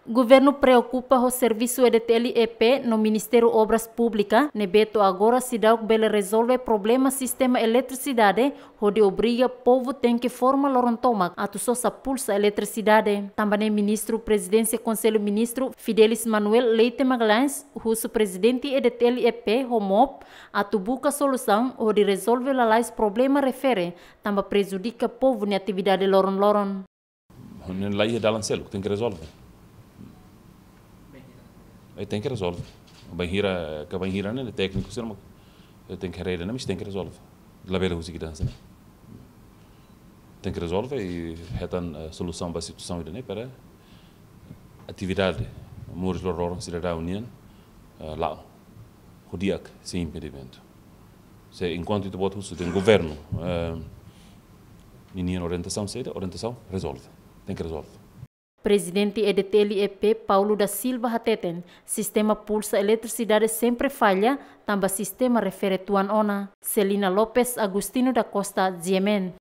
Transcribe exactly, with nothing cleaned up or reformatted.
Governu preokupa ho servisu E D T L E P no Ministériu Obras Públikas, ne'ebé to'o agora seidauk bele rezolve problema sistema eletrisidade, hodi obriga povu tenke forma loron tomak atu sosa pulsa eletrisidade. Tanba ne'e Ministru Prezidénsia Konsellu Ministru Fidelis Manuel Leite Magalhães husu Prezidente E D T L E P ho MOP atu buka solusaun hodi rezolve lalais problema refere tanba prejudika povu nia atividade loron-loron. Ne'e laiha dalan seluk, tenke rezolve. Eh, tenke rezolve. Bainhira, ka bainhira ne'e tékniku sira mak, eh, tenke rede, ne'e, mas tenke rezolve. Labele husik ida hanesan ne'e. Tenke rezolve i hetan, eh, solusaun ba situasaun ida-ne'e para atividade moris loron-loron sidadaun nian, eh, la'o ho di'ak, sein impedimentu. Se enkuantu ita-boot husu dehan governu, eh, ninian orientasaun saida, orientasaun rezolve. Tenke rezolve. Prezidente E D T L E P Paulo da Silva hateten, sistema pulsa eletrisidade sempre falla, tanba sistema refere tuan ona. Celina Lopes, Agostinho da Costa, G M N.